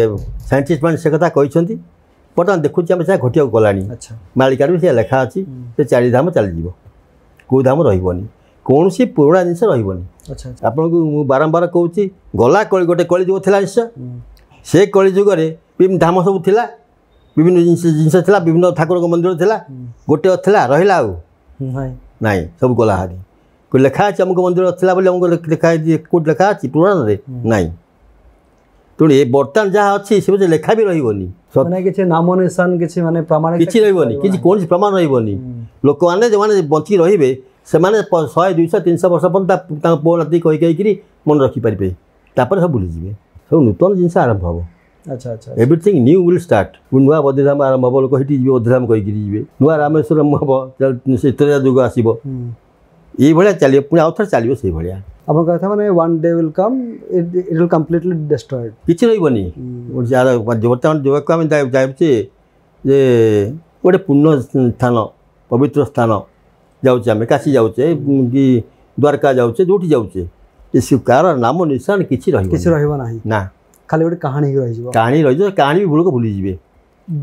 ସାଇଣ୍ଟିଷ୍ଟ ମାନେ ସେ କଥା କହିଛନ୍ତି। ବର୍ତ୍ତମାନ ଦେଖୁଛି ଆମେ ସେୟା ଘଟିବାକୁ ଗଲାଣି। ମାଳିକାରେ ବି ସେୟା ଲେଖା ଅଛି, ସେ ଚାରି ଧାମ ଚାଲିଯିବ, କେଉଁ ଧାମ ରହିବନି, କୌଣସି ପୁରୁଣା ଜିନିଷ ରହିବନି। ଆପଣଙ୍କୁ ମୁଁ ବାରମ୍ବାର କହୁଛି, ଗଲା କଳି ଗୋଟେ କଳିଯୁଗ ଥିଲା ନିଶ୍ଚୟ, ସେ କଳିଯୁଗରେ ବିଭିନ୍ନ ଧାମ ସବୁ ଥିଲା, ବିଭିନ୍ନ ଜିନିଷ ଜିନିଷ ଥିଲା, ବିଭିନ୍ନ ଠାକୁରଙ୍କ ମନ୍ଦିର ଥିଲା, ଗୋଟେ ଥିଲା ରହିଲା ଆଉ ନାଇଁ, ସବୁ ଗଲା ହାରି। ଲେଖା ଅଛି ଅମୁକ ମନ୍ଦିର ଥିଲା ବୋଲି, ଅମୁକ ଲେଖା ହେଇଛି, କେଉଁଠି ଲେଖା ଅଛି ପୁରାଣରେ? ନାଇଁ। ତେଣୁ ଏ ବର୍ତ୍ତମାନ ଯାହା ଅଛି ସେ ଲେଖା ବି ରହିବନି, ମାନେ କିଛି ନାମ ନିଶାନ, କିଛି ମାନେ ପ୍ରମାଣ କିଛି ରହିବନି, କିଛି କୌଣସି ପ୍ରମାଣ ରହିବନି। ଲୋକମାନେ ଯେଉଁମାନେ ବଞ୍ଚିକି ରହିବେ ସେମାନେ ଶହେ ଦୁଇଶହ ତିନିଶହ ବର୍ଷ ପର୍ଯ୍ୟନ୍ତ ତାଙ୍କ ପୁଅ ନାତି କହି କହିକିରି ମନେ ରଖିପାରିବେ, ତାପରେ ସବୁ ଭୁଲିଯିବେ। ସବୁ ନୂତନ ଜିନିଷ ଆରମ୍ଭ ହେବ। ଆଚ୍ଛା ଆଚ୍ଛା, ଏଭ୍ରିଥିଙ୍ଗ ନ୍ୟୁ will start. ନୂଆ ବଦ୍ରିଧାମ ଆରମ୍ଭ ହେବ, ଲୋକ ସେଠି ଯିବେ ବଦ୍ରିଧାମ କହିକିରି ଯିବେ। ନୂଆ ରାମେଶ୍ୱରମ ହେବ, ସେ ତ୍ରେତୟା ଯୁଗ ଆସିବ, ଏଇଭଳିଆ ଚାଲିବ। ପୁଣି ଆଉ ଥରେ ଚାଲିବ ସେଇଭଳିଆ। ଆପଣଙ୍କ କଥା ମାନେ one day will come, it will completely destroyed, କିଛି ରହିବନି। ବର୍ତ୍ତମାନ ଯୁବକ ଆମେ ଯାଉଛେ ଯେ ଗୋଟେ ପୂର୍ଣ୍ଣ ସ୍ଥାନ, ପବିତ୍ର ସ୍ଥାନ ଯାଉଛେ ଆମେ, କାଶୀ ଯାଉଛେ କି ଦ୍ୱାରକା ଯାଉଛେ, ଯେଉଁଠି ଯାଉଛେ, ଏ କାହାର ନାମ ନିଶାନ କିଛି ରହିବ କିଛି ରହିବ ନାହିଁ ନା, ଖାଲି ଗୋଟେ କାହାଣୀ ହେଇକି ରହିଯିବ। କାହାଣୀ ରହିଯିବ, କାହାଣୀ ବି ଲୋକ ଭୁଲିଯିବେ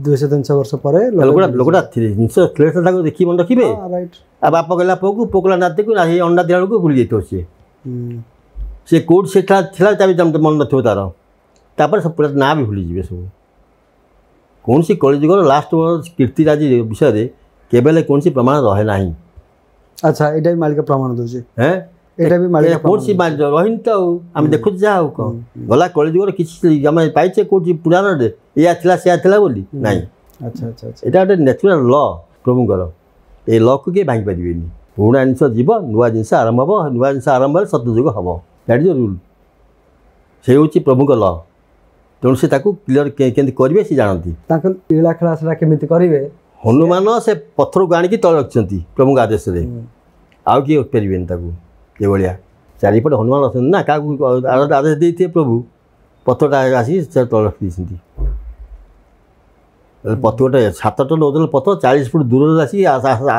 ଦୁଇଶହ ତିନିଶହ ବର୍ଷ ପରେ। ଲୋକଟା ଲୋକଟା ଜିନିଷ ଥିଲେ ତାକୁ ଦେଖି ମନେ ରଖିବେ, ଆଉ ବାପ କହିଲା ପୁଅକୁ, ପୁଅ କହିଲା ନାତିକୁ, ସେଇ ଅଣ୍ଡା ଦେଲା ବେଳକୁ ଭୁଲି ଯାଇଥିବ ସିଏ। ସେ କେଉଁଠି ସେଟା ଥିଲା ତା ବି ମନେ ନଥିବ ତାର, ତାପରେ ସବୁ ପୁରା ନାଁ ବି ଭୁଲିଯିବେ ସବୁ। କୌଣସି କଳିଯୁଗର ଲାଷ୍ଟ କୀର୍ତ୍ତିରାଜି ବିଷୟରେ କେବେ ହେଲେ କୌଣସି ପ୍ରମାଣ ରହେ ନାହିଁ। ଆଚ୍ଛା, ଏଇଟା ବି ମାଳିକା ପ୍ରମାଣ ଦେଉଛି। ହେଁ, ଏଇଟା ବି ମାଳିକା କୌଣସି ରହିନି ତ, ଆଉ ଆମେ ଦେଖୁଛୁ ଯାହା ଆଉ କ'ଣ ଗଲା କଳିଯୁଗର କିଛି ଆମେ ପାଇଛେ କେଉଁଠି ପୁରାଣରେ ଏଇଆ ଥିଲା ସେୟା ଥିଲା ବୋଲି? ନାଇଁ। ଆଚ୍ଛା ଆଚ୍ଛା, ଏଇଟା ଗୋଟେ ନ୍ୟାଚୁରାଲ୍ ଲ ପ୍ରଭୁଙ୍କର, ଏ ଲକୁ କିଏ ଭାଙ୍ଗି ପାରିବେନି। ପୁରୁଣା ଜିନିଷ ଯିବ, ନୂଆ ଜିନିଷ ଆରମ୍ଭ ହେବ, ନୂଆ ଜିନିଷ ଆରମ୍ଭ ହେଲେ ସତଯୁଗ ହେବ। That is rule, ସେ ହେଉଛି ପ୍ରଭୁଙ୍କ ଲ। ତେଣୁ ସେ ତାକୁ କ୍ଲିଅର କେମିତି କରିବେ ସେ ଜାଣନ୍ତି। ତାଙ୍କ ଲୀଳା ଖେଳା ସେଟା କେମିତି କରିବେ। ହନୁମାନ ସେ ପଥରକୁ ଆଣିକି ତଳେ ରଖିଛନ୍ତି ପ୍ରଭୁଙ୍କ ଆଦେଶରେ, ଆଉ କିଏ ରଖିପାରିବେନି ତାକୁ। ଏଭଳିଆ ଚାରିପଟେ ହନୁମାନ ଅଛନ୍ତି ନା, କାହାକୁ ଆଦେଶ ଦେଇଥିବେ ପ୍ରଭୁ, ପଥରଟା ଆସିକି ସେ ତଳେ ରଖିଦେଇଛନ୍ତି। ପଥର ଗୋଟେ ସାତ ଟନ୍ ଓଜନ ପଥର ଚାଳିଶ ଫୁଟ ଦୂରରେ ଆସିକି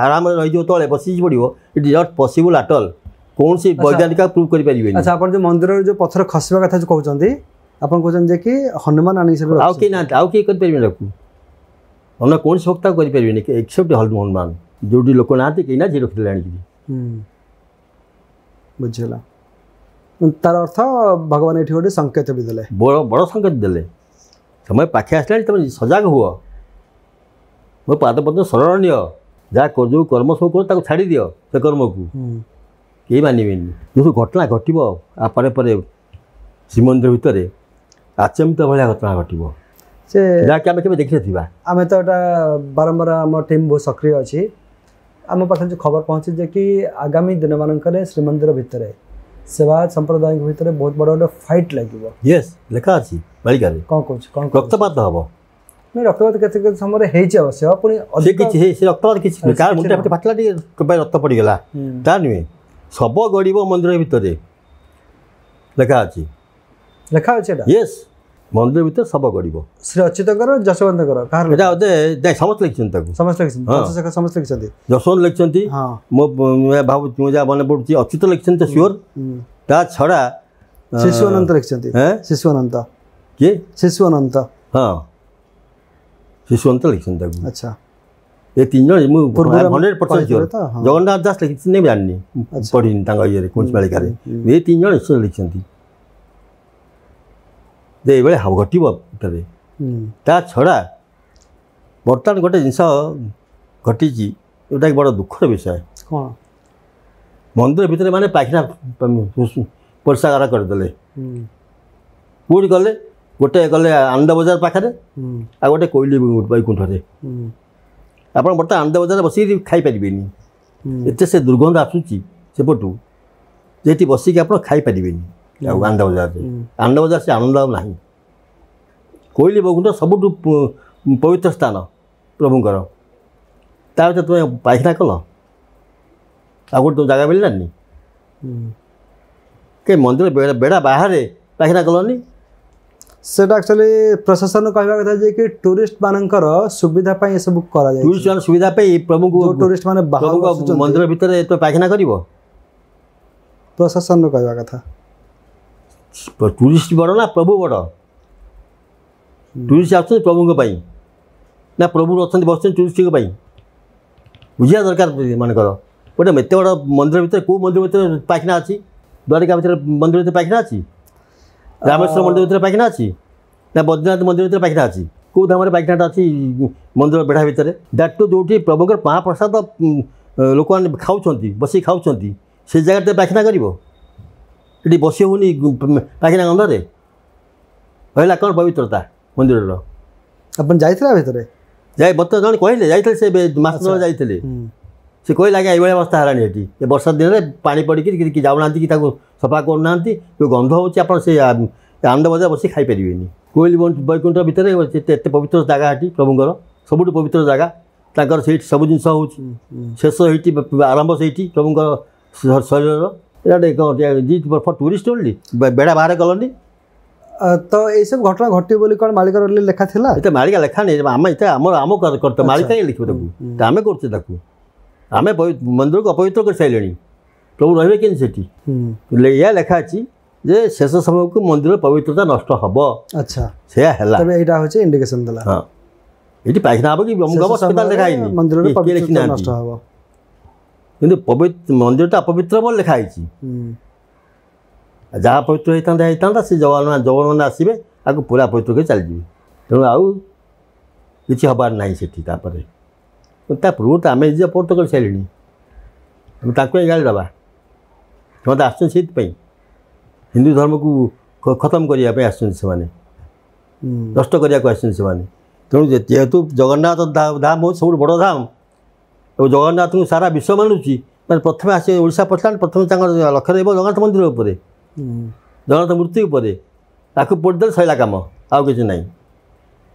ଆରାମରେ ରହିଯିବ, ତଳେ ବସିକି ପଡ଼ିବ। It is not possible at all, କୌଣସି ବୈଜ୍ଞାନିକ ପ୍ରୁଭ୍ କରିପାରିବେନି। ଆଚ୍ଛା, ଆପଣ ଯେଉଁ ମନ୍ଦିରରେ ଯେଉଁ ପଥର ଖସିବା କଥା ଯେଉଁ କହୁଛନ୍ତି, ଆପଣ କହୁଛନ୍ତି ଯେ କି ହନୁମାନ ଆଣିକି, ଆଉ କେହି ନାହାନ୍ତି, ଆଉ କେହି କରିପାରିବେନି ତାକୁ, ଅନ୍ୟ କୌଣସି ଭକ୍ତ କରିପାରିବେନି ଏକ୍ସେପ୍ଟ ହନୁମାନ। ଯେଉଁଠି ଲୋକ ନାହାନ୍ତି, କେହି ନାହାନ୍ତି, ରଖିଦେଲେ ଆଣିକିରି। ବୁଝିଲା, ତାର ଅର୍ଥ ଭଗବାନ ଏଠି ଗୋଟେ ସଂକେତ ବି ଦେଲେ, ବଡ଼ ବଡ଼ ସଂକେତ ଦେଲେ। ସମୟ ପାଖେ ଆସିଲାଣି, ତୁମେ ସଜାଗ ହୁଅ, ମୋ ପାଦ ପଦ୍ମ ଶରଣ ନିଅ, ଯାହା ଯେଉଁ କର୍ମ ସବୁ କର ତାକୁ ଛାଡ଼ିଦିଅ, ସେ କର୍ମକୁ କେହି ମାନିବେନି। ଯେଉଁ ଘଟଣା ଘଟିବ ଆ ପରେ ପରେ ଶ୍ରୀମନ୍ଦିର ଭିତରେ ଆଚମ୍ବିତ ଭଳିଆ ଘଟଣା ଘଟିବ, ସେ ଯାହାକି ଆମେ କେବେ ଦେଖିନଥିବା। ଆମେ ତ ଏଇଟା ବାରମ୍ବାର ଆମ ଟିମ୍ ବହୁତ ସକ୍ରିୟ ଅଛି, ଆମ ପାଖରେ ଯେଉଁ ଖବର ପହଞ୍ଚି ଯେ କି ଆଗାମୀ ଦିନମାନଙ୍କରେ ଶ୍ରୀମନ୍ଦିର ଭିତରେ ସେବାୟତ ସମ୍ପ୍ରଦାୟଙ୍କ ଭିତରେ ବହୁତ ବଡ଼ ଗୋଟେ ଫାଇଟ୍ ଲାଗିବ। ୟେସ୍, ଲେଖା ଅଛି ମାଳିକାରେ। କ'ଣ କହୁଛି? କ'ଣ ରକ୍ତପାତ ହେବ? ନାଇଁ, ରକ୍ତପାତ କେତେ କେତେ ସମୟରେ ହେଇଛି ଅବଶ୍ୟ, ପୁଣି ସେ କିଛି ସେ ରକ୍ତପାତ କିଛି କାହାର ମୁଣ୍ଡ ଫାଟି ଫାଟିଲା ଟିକେ ରକ୍ତ ପଡ଼ିଗଲା ତା ନୁହେଁ, ଶବ ଗଡ଼ିବ ମନ୍ଦିର ଭିତରେ ଲେଖା ଅଛି। ଲେଖା ଅଛି ଏଇଟା? ୟେସ୍, ମନ୍ଦିର ଭିତରେ ଶବ ଗଡ଼ିବ। ଶ୍ରୀ ଅଚ୍ୟୁତଙ୍କର, ଯଶବନ୍ତଙ୍କର, କାହାର ଏଇଟା? ବୋଧେ ନାଇଁ, ସମସ୍ତେ ଲେଖିଛନ୍ତି ତାକୁ। ସମସ୍ତେ ଲେଖିଛନ୍ତି, ସମସ୍ତେ ଲେଖିଛନ୍ତି। ଯଶବନ୍ତ ଲେଖିଛନ୍ତି, ମୋ ଭାବୁଛି ମୁଁ ଯାହା ମନେ ପଡ଼ୁଛି ଅଚ୍ୟୁତ ଲେଖିଛନ୍ତି ତ ସିଓର। ତା ଛଡ଼ା ଶିଶୁ ଅନନ୍ତ ଲେଖିଛନ୍ତି। ଶିଶୁ ଅନନ୍ତ କିଏ? ଶିଶୁ ଅନନ୍ତ, ହଁ, ଶିଶୁ ଅନନ୍ତ ଲେଖିଛନ୍ତି ତାକୁ। ଆଚ୍ଛା, ଏ ତିନି ଜଣ ମୁଁ hundred percent sure. Jagannath Das ଲେଖିଛନ୍ତି ଜାଣିନି, ପଢ଼ିନି ତାଙ୍କ ଇଏରେ କୌଣସି ମାଳିକାରେ। ଏ ତିନି ଜଣ ନିଶ୍ଚୟ ଲେଖିଛନ୍ତି ଯେ ଏଇଭଳିଆ ଘଟିବ ଭିତରେ। ତା ଛଡ଼ା ବର୍ତ୍ତମାନ ଗୋଟେ ଜିନିଷ ଘଟିଛି ଯେଉଁଟାକି ବଡ଼ ଦୁଃଖର ବିଷୟ। କ'ଣ? ମନ୍ଦିର ଭିତରେ ମାନେ ପାଇଖାନା ପରିସ୍ରାଗାର କରିଦେଲେ। କେଉଁଠି ଗଲେ? ଗୋଟେ ଗଲେ ଆନନ୍ଦ ବଜାର ପାଖରେ, ଆଉ ଗୋଟେ କୋଇଲି ବୈକୁଣ୍ଠରେ। ଆପଣ ବର୍ତ୍ତମାନ ଆନନ୍ଦ ବଜାରରେ ବସିକି ଖାଇପାରିବେନି, ଏତେ ସେ ଦୁର୍ଗନ୍ଧ ଆସୁଛି ସେପଟୁ ଯେ ଏଠି ବସିକି ଆପଣ ଖାଇପାରିବେନି। ଆଉ ଆନନ୍ଦ ବଜାରରେ, ଆନନ୍ଦ ବଜାର ସେ ଆନନ୍ଦ ଆଉ ନାହିଁ। କୋଇଲି ବୈକୁଣ୍ଠ ସବୁଠୁ ପବିତ୍ର ସ୍ଥାନ ପ୍ରଭୁଙ୍କର, ତା ଭିତରେ ତୁମେ ପାଇଖାନା କଲ, ଆଉ ଗୋଟେ ଜାଗା ମିଳିଲାନି କି ମନ୍ଦିର ବେଢ଼ା ବାହାରେ ପାଇଖାନା କଲନି? ସେଟା ଆକ୍ଚୁଆଲି ପ୍ରଶାସନ କହିବା କଥା ଯେ କି ଟୁରିଷ୍ଟ ମାନଙ୍କର ସୁବିଧା ପାଇଁ ଏସବୁ କରାଯାଏ। ଟୁରିଷ୍ଟ ମାନଙ୍କ ସୁବିଧା ପାଇଁ ପ୍ରଭୁଙ୍କୁ, ଟୁରିଷ୍ଟ ମାନେ ମନ୍ଦିର ଭିତରେ ତ ପାଇଖାନା କରିବ? ପ୍ରଶାସନର କହିବା କଥା। ଟୁରିଷ୍ଟ ବଡ଼ ନା ପ୍ରଭୁ ବଡ଼? ଟୁରିଷ୍ଟ ଆସୁଛନ୍ତି ପ୍ରଭୁଙ୍କ ପାଇଁ ନା ପ୍ରଭୁ ଅଛନ୍ତି ବସୁଛନ୍ତି ଟୁରିଷ୍ଟଙ୍କ ପାଇଁ? ବୁଝିବା ଦରକାର ମାନଙ୍କର। ଗୋଟେ ଏତେ ବଡ଼ ମନ୍ଦିର ଭିତରେ, କେଉଁ ମନ୍ଦିର ଭିତରେ ପାଇଖାନା ଅଛି? ଦ୍ୱାରିକା ଭିତରେ ମନ୍ଦିର ଭିତରେ ପାଇଖାନା ଅଛି? ରାମେଶ୍ୱର ମନ୍ଦିର ଭିତରେ ପାଇଖାନା ଅଛି ନା ବଦ୍ରୀନାଥ ମନ୍ଦିର ଭିତରେ ପାଇଖାନା ଅଛି? କେଉଁ ଧାମରେ ପାଇଖାନାଟା ଅଛି ମନ୍ଦିର ବେଢ଼ା ଭିତରେ? That two ଯେଉଁଠି ପ୍ରଭୁଙ୍କର ମହାପ୍ରସାଦ ଲୋକମାନେ ଖାଉଛନ୍ତି, ବସିକି ଖାଉଛନ୍ତି, ସେ ଜାଗାରେ ପାଇଖାନା କରିବ? ଏଠି ବସି ହେଉନି ପାଇଖାନା ଗନ୍ଧରେ। ରହିଲା କ'ଣ ପବିତ୍ରତା ମନ୍ଦିରର? ଆପଣ ଯାଇଥିଲେ ଭିତରେ? ଯାଇ ବର୍ତ୍ତମାନ ଜଣେ କହିଲେ ଯାଇଥିଲେ, ସେ ମାସ ତଳେ ଯାଇଥିଲେ, ସେ କହିଲେ ଆଜ୍ଞା ଏଇଭଳିଆ ଅବସ୍ଥା ହେଲାଣି ଏଠି, ଏ ବର୍ଷା ଦିନରେ ପାଣି ପଡ଼ିକି କି ଯାଉନାହାନ୍ତି କି ତାକୁ ସଫା କରୁନାହାନ୍ତି, ଯେଉଁ ଗନ୍ଧ ହେଉଛି ଆପଣ ସେ ଆନନ୍ଦ ବଜାର ବସି ଖାଇପାରିବେନି। କୋଇଲି ବୈକୁଣ୍ଠ ଭିତରେ ଏତେ ପବିତ୍ର ଜାଗା ଏଠି ପ୍ରଭୁଙ୍କର, ସବୁଠୁ ପବିତ୍ର ଜାଗା ତାଙ୍କର, ସେଇଠି ସବୁ ଜିନିଷ ହେଉଛି, ଶେଷ ହେଇଠି ଆରମ୍ଭ ସେଇଠି ପ୍ରଭୁଙ୍କର ଶରୀରର। ଏଇଟା କ'ଣ ଫର୍ ଟୁରିଷ୍ଟ ଓନ୍ଲି, ବେଡ଼ା ବାହାରେ କଲନି। ତ ଏଇସବୁ ଘଟଣା ଘଟିବ ବୋଲି କ'ଣ ମାଳିକାର ଲେଖା ଥିଲା? ଏତେ ମାଳିକା ଲେଖା ନେଇ, ଆମେ ଏତେ ଆମର ଆମ କର୍ତ୍ତା, ମାଳିକା ହିଁ ଲେଖିବ ତାକୁ, ଆମେ କରୁଛେ ତାକୁ, ଆମେ ମନ୍ଦିରକୁ ଅପବିତ୍ର କରିସାରିଲେଣି, ପ୍ରଭୁ ରହିବେ କେମିତି ସେଠି? ଏଇଆ ଲେଖା ଅଛି ଯେ ଶେଷ ସମୟକୁ ମନ୍ଦିର ପବିତ୍ରତା ନଷ୍ଟ ହେବ। ଆଚ୍ଛା, ସେୟା ହେଲା। ତେବେ ଏଇଟା ହେଉଛି ଇଣ୍ଡିକେସନ୍ ଦେଲା। ହଁ, ଏଠି ପାଇଖାନା ହେବ କି ଅମୁକ ହେବ ସେଟା ଲେଖା ହେଇନି, ମନ୍ଦିରର ପବିତ୍ରତା ନଷ୍ଟ ହେବ, କିନ୍ତୁ ପବିତ୍ର ମନ୍ଦିରଟା ଅପବିତ୍ର ବୋଲି ଲେଖା ହେଇଛି। ଯାହା ପବିତ୍ର ହେଇଥାନ୍ତା ହେଇଥାନ୍ତା, ସେ ଯବାନ ଯବାନମାନେ ଆସିବେ ଆକୁ ପୁରା ପବିତ୍ର କରି ଚାଲିଯିବେ, ତେଣୁ ଆଉ କିଛି ହେବାର ନାହିଁ ସେଠି। ତାପରେ ତା ପୂର୍ବରୁ ତ ଆମେ ନିଜେ ଅପବିତ୍ର କରିସାରିଲେଣି, ଆମେ ତାଙ୍କୁ ହିଁ ଗାଳି ଦେବା। ସେମାନେ ତ ଆସୁଛନ୍ତି ସେଇଥିପାଇଁ, ହିନ୍ଦୁ ଧର୍ମକୁ ଖତମ କରିବା ପାଇଁ ଆସୁଛନ୍ତି ସେମାନେ, ନଷ୍ଟ କରିବାକୁ ଆସୁଛନ୍ତି ସେମାନେ। ତେଣୁ ଯେହେତୁ ଜଗନ୍ନାଥ ଧାମ ହେଉଛି ସବୁଠୁ ବଡ଼ ଧାମ ଏବଂ ଜଗନ୍ନାଥଙ୍କୁ ସାରା ବିଶ୍ୱ ମାନୁଛି, ମାନେ ପ୍ରଥମେ ଆସି ଓଡ଼ିଶା ପଶିଲା, ପ୍ରଥମେ ତାଙ୍କର ଲକ୍ଷ୍ୟ ରହିବ ଜଗନ୍ନାଥ ମନ୍ଦିର ଉପରେ, ଜଗନ୍ନାଥ ମୂର୍ତ୍ତି ଉପରେ, ତାକୁ ପୋଡ଼ିଦେଲେ ସରିଲା କାମ, ଆଉ କିଛି ନାହିଁ।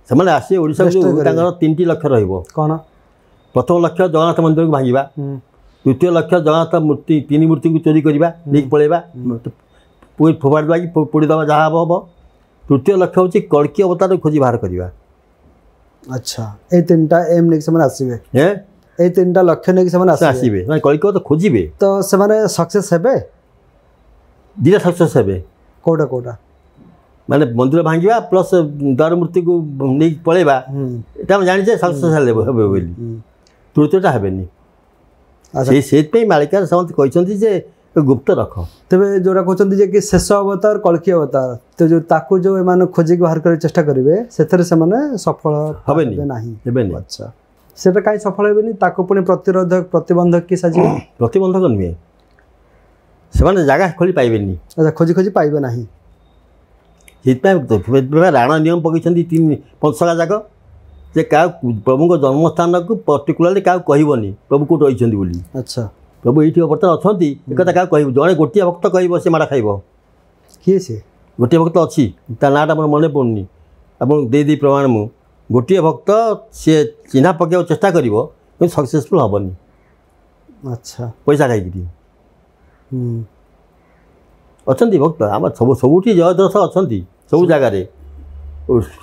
ସେମାନେ ଆସିବେ ଓଡ଼ିଶାକୁ, ତାଙ୍କର ତିନିଟି ଲକ୍ଷ୍ୟ ରହିବ। କ'ଣ? ପ୍ରଥମ ଲକ୍ଷ୍ୟ ଜଗନ୍ନାଥ ମନ୍ଦିରକୁ ଭାଙ୍ଗିବା, ଦ୍ୱିତୀୟ ଲକ୍ଷ୍ୟ ଜଗନ୍ନାଥ ମୂର୍ତ୍ତି ତିନି ମୂର୍ତ୍ତିକୁ ଚୋରି କରିବା, ନେଇକି ପଳେଇବା, ଫୋପାଡ଼ି ଦେବା କି ପୋଡ଼ିଦେବା, ଯାହା ହେବ ହେବ। ତୃତୀୟ ଲକ୍ଷ୍ୟ ହେଉଛି କଳ୍କୀ ଅବତାରକୁ ଖୋଜି ବାହାର କରିବା। ଆଚ୍ଛା, ଏଇ ତିନିଟା ଏମ୍ ନେଇକି ସେମାନେ ଆସିବେ, ଏଇ ତିନିଟା ଲକ୍ଷ୍ୟ ନେଇକି ସେମାନେ ଆସିବେ, ମାନେ କଳ୍କୀ ଅବତାର ଖୋଜିବେ। ତ ସେମାନେ ସକ୍ସେସ୍ ହେବେ? ଦୁଇଟା ସକ୍ସେସ୍ ହେବେ। କେଉଁଟା କେଉଁଟା? ମାନେ ମନ୍ଦିର ଭାଙ୍ଗିବା ପ୍ଲସ୍ ଦାରୁ ମୂର୍ତ୍ତିକୁ ନେଇକି ପଳେଇବା, ଏଇଟା ଆମେ ଜାଣିଛେ ସକ୍ସେସ୍ ହେଲେ ହେବେ ବୋଲି, ତୃତୀୟଟା ହେବେନି। ସେଇ ସେଇଥିପାଇଁ ମାଳିକାରେ ସମସ୍ତେ କହିଛନ୍ତି ଯେ ଗୁପ୍ତ ରଖ। ତେବେ ଯେଉଁଟା କହୁଛନ୍ତି ଯେ କି ଶେଷ ଅବତାର କଳ୍କୀ ଅବତାର, ତ ଯେଉଁ ତାକୁ ଯେଉଁ ଏମାନେ ଖୋଜିକି ବାହାର କରିବାକୁ ଚେଷ୍ଟା କରିବେ, ସେଥିରେ ସେମାନେ ସଫଳ ହେବେନି ନାହିଁ। ହେବେନି। ଆଚ୍ଛା, ସେଟା କାହିଁ ସଫଳ ହେବେନି? ତାକୁ ପୁଣି ପ୍ରତିରୋଧକ ପ୍ରତିବନ୍ଧକ କି ସାଜିବ? ପ୍ରତିବନ୍ଧକ ନୁହେଁ, ସେମାନେ ଜାଗା ଖୋଲି ପାଇବେନି। ଆଚ୍ଛା, ଖୋଜି ଖୋଜି ପାଇବେ ନାହିଁ। ସେଇଥିପାଇଁ ରାଣ ନିୟମ ପକେଇଛନ୍ତି ତିନି ପଞ୍ଚସଖା ଯାକ, ଯେ କାହାକୁ ପ୍ରଭୁଙ୍କ ଜନ୍ମସ୍ଥାନକୁ ପର୍ଟିକୁଲାରଲି କାହାକୁ କହିବନି ପ୍ରଭୁ କେଉଁଠି ରହିଛନ୍ତି ବୋଲି। ଆଚ୍ଛା, ପ୍ରଭୁ ଏଇଠି ବର୍ତ୍ତମାନ ଅଛନ୍ତି ଏକଥା କାହାକୁ କହିବ? ଜଣେ ଗୋଟିଏ ଭକ୍ତ କହିବ ସେ ମାଡ଼ ଖାଇବ। କିଏ ସେ? ଗୋଟିଏ ଭକ୍ତ ଅଛି, ତା ନାଁଟା ମୋର ମନେ ପଡ଼ୁନି, ଆପଣଙ୍କୁ ଦେଇଦେଇ ପ୍ରମାଣ ମୁଁ। ଗୋଟିଏ ଭକ୍ତ ସିଏ ଚିହ୍ନା ପକାଇବାକୁ ଚେଷ୍ଟା କରିବ, କିନ୍ତୁ ସକ୍ସେସଫୁଲ୍ ହେବନି। ଆଚ୍ଛା, ପଇସା ଖାଇକିରି ଅଛନ୍ତି ଭକ୍ତ ଆମର ସବୁ ସବୁଠି ଜୟଦ୍ରଥ ଅଛନ୍ତି, ସବୁ ଜାଗାରେ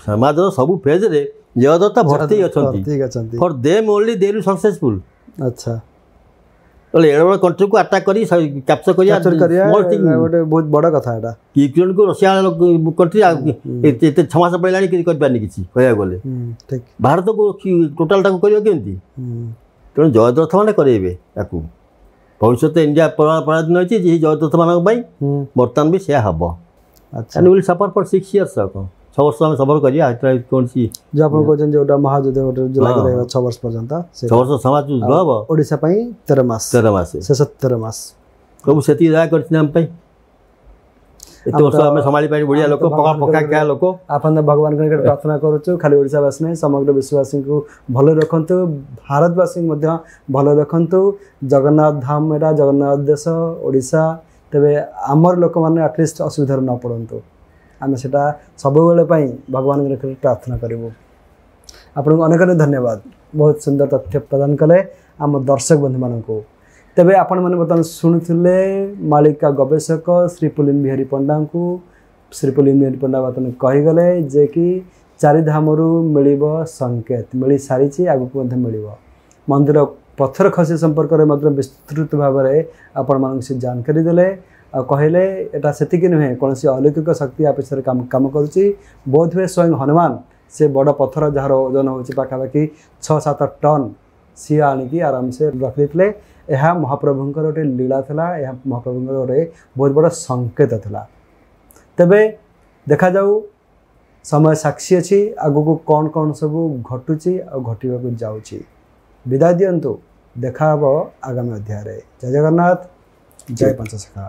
ସମାଜର ସବୁ ଫେଜ୍ରେ ଜୟଦ୍ରଥ ଭର୍ତ୍ତି ଅଛନ୍ତି। For them only they will successful. ଆଚ୍ଛା, ବୋଲେ ଏଡ଼େ ବଡ଼ କଣ୍ଟ୍ରିକୁ ଆଟାକ୍ କରି କ୍ୟାପଚର୍ କରିବା ଗୋଟେ ବହୁତ ବଡ଼ କଥା। ଏଇଟା ୟୁକ୍ରେନ୍କୁ ରଷିଆ କଣ୍ଟ୍ରି ଏତେ ଛଅ ମାସ ପଡ଼ିଲାଣି କିଛି କରିପାରିନି କିଛି କହିବାକୁ ଗଲେ, ଭାରତକୁ ଟୋଟାଲଟାକୁ କରିବ କେମିତି? ତେଣୁ ଜୟଦ୍ରଥ ମାନେ କରେଇବେ ତାକୁ। ଭବିଷ୍ୟତ ଇଣ୍ଡିଆ ପରାଧୀନ ହେଇଛି ଯେ ଜୟଦ୍ରଥମାନଙ୍କ ପାଇଁ, ବର୍ତ୍ତମାନ ବି ସେୟା ହେବ। And will suffer for six years. ଆଉ କ'ଣ, ଛଅ ବର୍ଷ ଆମେ ସଫର କରିବା କୌଣସି ଯେଉଁ ଆପଣ କହୁଛନ୍ତି ଯେଉଁଟା ମହାଯୁଦ୍ଧ ଗୋଟେ ଲାଗି ରହିବ ଛଅ ବର୍ଷ ପର୍ଯ୍ୟନ୍ତ, ଛଅ ବର୍ଷ ସମାଜ ଯୁଦ୍ଧ ହେବ ଓଡ଼ିଶା ପାଇଁ, ତେର ମାସ, ତେର ମାସ, ଶେଷ ତେର ମାସ। ପ୍ରଭୁ ସେତିକି ଦୟା କରିଛନ୍ତି ଆମ ପାଇଁ, ଏତେ ବର୍ଷ ଆମେ ସମ୍ଭାଳି ପାରି ଓଡ଼ିଆ ଲୋକ, ପକା ପକା ଖିଆ ଲୋକ। ଆପଣ ଭଗବାନଙ୍କ ନିକଟରେ ପ୍ରାର୍ଥନା କରୁଛୁ ଖାଲି ଓଡ଼ିଶାବାସୀ ନାହିଁ, ସମଗ୍ର ବିଶ୍ୱବାସୀଙ୍କୁ ଭଲ ରଖନ୍ତୁ, ଭାରତବାସୀଙ୍କୁ ମଧ୍ୟ ଭଲ ରଖନ୍ତୁ। ଜଗନ୍ନାଥ ଧାମ ଏଇଟା ଜଗନ୍ନାଥ ଦେଶ ଓଡ଼ିଶା, ତେବେ ଆମର ଲୋକମାନେ ଆଟଲିଷ୍ଟ ଅସୁବିଧାରେ ନ ପଡ଼ନ୍ତୁ, ଆମେ ସେଇଟା ସବୁବେଳେ ପାଇଁ ଭଗବାନଙ୍କ ନିକଟରେ ପ୍ରାର୍ଥନା କରିବୁ। ଆପଣଙ୍କୁ ଅନେକ ଅନେକ ଧନ୍ୟବାଦ, ବହୁତ ସୁନ୍ଦର ତଥ୍ୟ ପ୍ରଦାନ କଲେ ଆମ ଦର୍ଶକ ବନ୍ଧୁମାନଙ୍କୁ। ତେବେ ଆପଣମାନେ ବର୍ତ୍ତମାନ ଶୁଣୁଥିଲେ ମାଳିକା ଗବେଷକ ଶ୍ରୀ ପୁଲିନ ବିହାରୀ ପଣ୍ଡାଙ୍କୁ। ଶ୍ରୀ ପୁଲିନ ବିହାରୀ ପଣ୍ଡା ବର୍ତ୍ତମାନ କହିଗଲେ ଯେ କି ଚାରିଧାମରୁ ମିଳିବ ସଂକେତ, ମିଳିସାରିଛି, ଆଗକୁ ମଧ୍ୟ ମିଳିବ। ମନ୍ଦିର ପଥର ଖସି ସମ୍ପର୍କରେ ମଧ୍ୟ ବିସ୍ତୃତ ଭାବରେ ଆପଣମାନଙ୍କୁ ସେ ଜାନକାରୀ ଦେଲେ ଆଉ କହିଲେ ଏଇଟା ସେତିକି ନୁହେଁ, କୌଣସି ଅଲୌକିକ ଶକ୍ତି ଆ ପଛରେ କାମ କାମ କରୁଛି। ବୋଧହୁଏ ସ୍ୱୟଂ ହନୁମାନ ସେ ବଡ଼ ପଥର ଯାହାର ଓଜନ ହେଉଛି ପାଖାପାଖି ଛଅ ସାତ ଟନ୍ ସିଏ ଆଣିକି ଆରାମସେ ରଖିଦେଇଥିଲେ। ଏହା ମହାପ୍ରଭୁଙ୍କର ଗୋଟେ ଲୀଳା ଥିଲା, ଏହା ମହାପ୍ରଭୁଙ୍କର ଗୋଟେ ବହୁତ ବଡ଼ ସଂକେତ ଥିଲା। ତେବେ ଦେଖାଯାଉ, ସମୟ ସାକ୍ଷୀ ଅଛି ଆଗକୁ କ'ଣ କ'ଣ ସବୁ ଘଟୁଛି ଆଉ ଘଟିବାକୁ ଯାଉଛି। ବିଦାୟ ଦିଅନ୍ତୁ, ଦେଖା ହେବ ଆଗାମୀ ଅଧ୍ୟାୟରେ। ଜୟ ଜଗନ୍ନାଥ, ଜୟ ପଞ୍ଚସଖା।